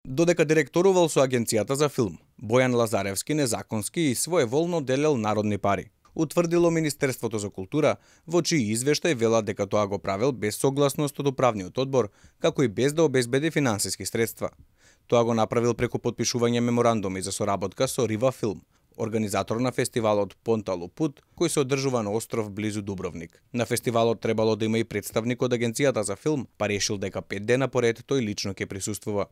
Додека директорувал со агенцијата за филм, Бојан Лазаревски незаконски и своеволно делел народни пари. Утврдило Министерството за култура, во чиј извештај вела дека тоа го правил без согласност од управниот одбор, како и без да обезбеди финансиски средства. Тоа го направил преку потпишување меморандуми за соработка со Рива Филм, организатор на фестивалот Понталу Пут, кој се одржува на остров близу Дубровник. На фестивалот требало да има и представник од агенцијата за филм, па решил дека 5 дена поред тој лично ќе присуствува.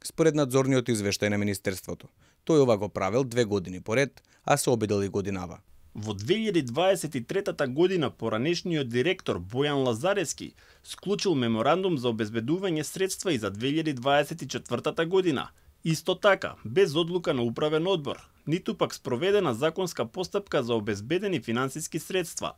Според надзорниот извештај на Министерството, тој ова го правил 2 години поред, а се обидел и годинава. Во 2023 година поранешниот директор Бојан Лазаревски склучил меморандум за обезбедување средства и за 2024 година. Исто така, без одлука на управен одбор, ниту пак спроведена законска постапка за обезбедени финансиски средства.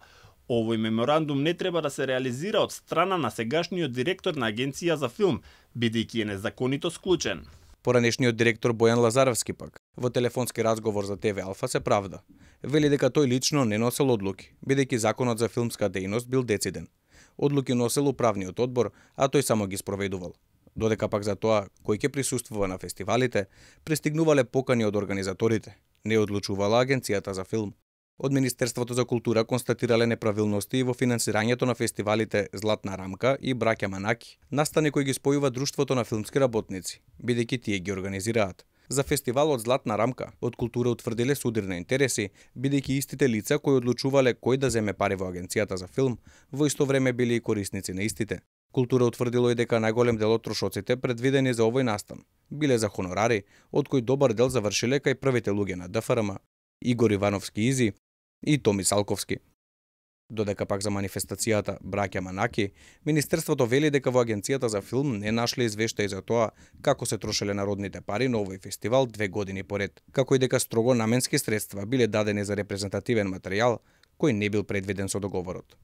Овој меморандум не треба да се реализира од страна на сегашниот директор на агенција за филм, бидејќи е незаконито склучен. Поранешниот директор Бојан Лазаревски пак во телефонски разговор за ТВ Алфа се правда. Вели дека тој лично не носел одлуки, бидејќи законот за филмска дејност бил дециден. Одлуки носел управниот одбор, а тој само ги спроведувал. Додека пак за тоа кој ќе присуствува на фестивалите, пристигнувале покани од организаторите, не одлучувала агенцијата за филм. Од Министерството за култура констатирале неправилности во финансирањето на фестивалите Златна рамка и Браќа Манаки, настани кои ги спојува Друштвото на филмски работници, бидејќи тие ги организираат. За фестивалот Златна рамка од култура утврдиле судир на интереси, бидејќи истите лица кои одлучувале кој да земе пари во агенцијата за филм, во исто време биле и корисници на истите. Култура утврдило и дека најголем дел од трошоците предвидени за овој настан биле за хонорари, од кои добар дел завршиле кај првите луѓе на ДФРМ, Игор Ивановски Изи и Томи Салковски. Додека пак за манифестацијата Браќа Манаки, Министерството вели дека во агенцијата за филм не нашле извештај за тоа како се трошеле народните пари на овој фестивал 2 години поред, како и дека строго наменски средства биле дадени за репрезентативен материјал кој не бил предвиден со договорот.